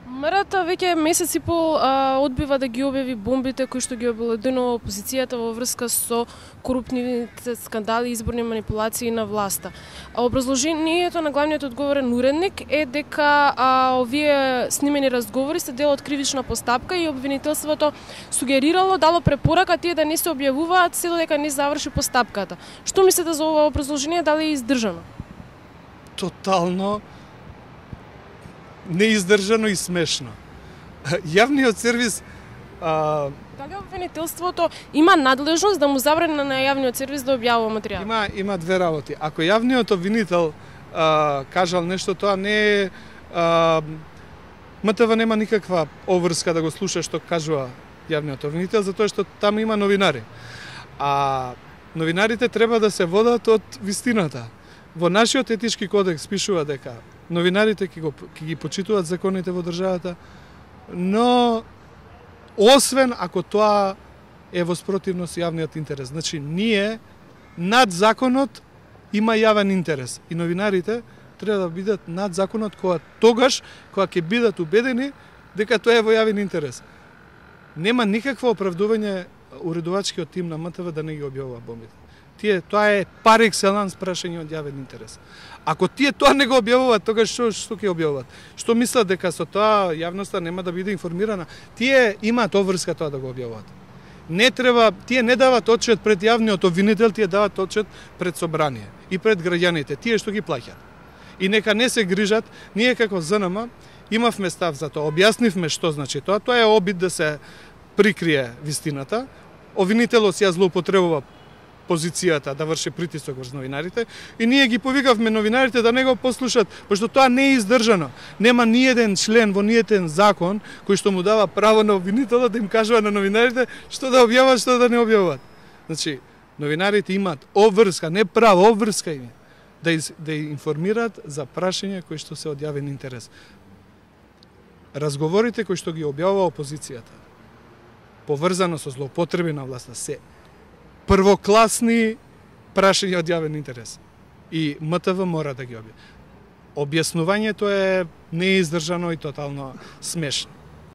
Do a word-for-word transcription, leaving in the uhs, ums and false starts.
МРТ веќе месец и пол а, одбива да ги објави бомбите кои што ги обеледенува опозицијата во врска со корупtivните скандали и изборни манипулации на власта. А образложението на главниот одговорен уредник е дека а, овие снимени разговори се дел од кривична постапка и обвинителството сугерирало, дало препорака тие да не се објавуваат се додека не заврши постапката. Што мислите за ова образложение, дали е издржано? Тотално неиздржано и смешно. Јавниот сервис а... дали обвинителството има надлежност да му забрани на јавниот сервис да објавува материјал? Има има две работи. Ако јавниот обвинител а, кажал нешто, тоа не е а, МТВ нема никаква обврска да го слуша што кажува јавниот обвинител, затоа што таму има новинари. А новинарите треба да се водат од вистината. Во нашиот етички кодекс пишува дека новинарите ќе, го, ќе ги почитуваат законите во државата, но освен ако тоа е во спротивност јавниот интерес. Значи, ние над законот има јавен интерес и новинарите треба да бидат над законот кога тогаш кога ќе бидат убедени дека тоа е во јавен интерес. Нема никакво оправдување уредувачкиот тим на МТВ да не ги објавува бомбите. Тие, тоа е пар екселанс прашање од јавен интерес. Ако тие тоа не го објавуваат, тогаш што што ќе објавуваат? Што мислат дека со тоа јавноста нема да биде информирана? Тие имаат обврска тоа да го објавуваат. Не треба, тие не дават отчет пред јавниот обвинител, тие дават отчет пред собрание и пред граѓаните, тие што ги плаќаат. И нека не се грижат, ние како ЗНМ имавме став за тоа, објаснивме што значи тоа, тоа е обид да се прикрие вистината. Обвинителот ја злоупотребува позицијата да врши притисок врз новинарите и ние ги повикавме новинарите да не го послушат, пошто тоа не е издржано. Нема ниеден член во ниеден закон кој што му дава право на обвинителот да им кажува на новинарите што да објават, што да не објават. Значи, новинарите имаат обврска, не право, обврска им да из, да информираат за прашања кои што се од јавен интерес. Разговорите кои што ги објавува опозицијата поврзано со злоупотреби на власта се првокласни прашања од јавен интерес. И МТВ мора да ги објави. Објаснувањето е неиздржано и тотално смешно.